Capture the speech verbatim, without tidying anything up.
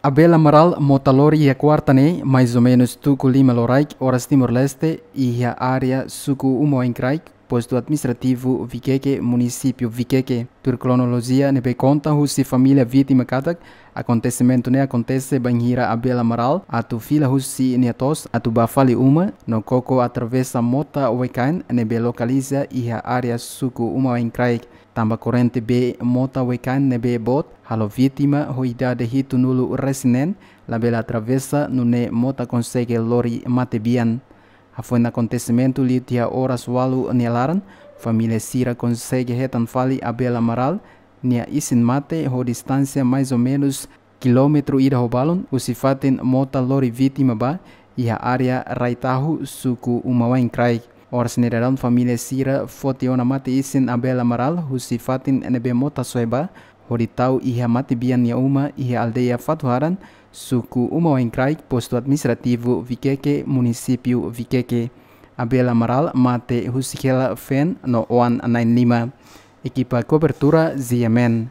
Abel Amaral mota lori iha kuarta ne'e, mais ou menus tuku lima loraik, oras Timor-Leste, iha área suku Uma Wainkraik, postu administrativu Vikeke, munisípiu Vikeke. Tuir kronolojia ne'ebé konta husi família vítima katak, akontesimentu ne'e akontese bainhira Abel Amaral atu fila husi nia to'os atu bá fali uma, no koko atravesa mota wekaan ne'ebé lokaliza iha área suku Uma Wainkraik. Tanba korrente bee mota wekaan ne'ebé boot, halo vítima ho idade hitunulu resin neen, labele atravesa, nune'e mota konsege lori matebian. Hafoin akontesimentu liu tiha oras ualu nia laran, família sira konsege hetan fali Abel Amaral nia isin-mate ho distánsia mais ou menus kilómetru ida ho balun husi fatin mota lori vítima bá, iha área Rai Tahu, suku Uma Wainkraik. Oras ne'e daudaun família sira foti ona mate-isin Abel Amaral husi fatin ne'ebé mota soe bá, hodi tau iha matebian nia uma iha aldeia Fatuharan, suku Uma Wainkraik, postu administrativu Vikeke, munisípiu Vikeke. Abel Amaral mate husik hela feen no oan na'in-lima. Ekipa kobertura G M N.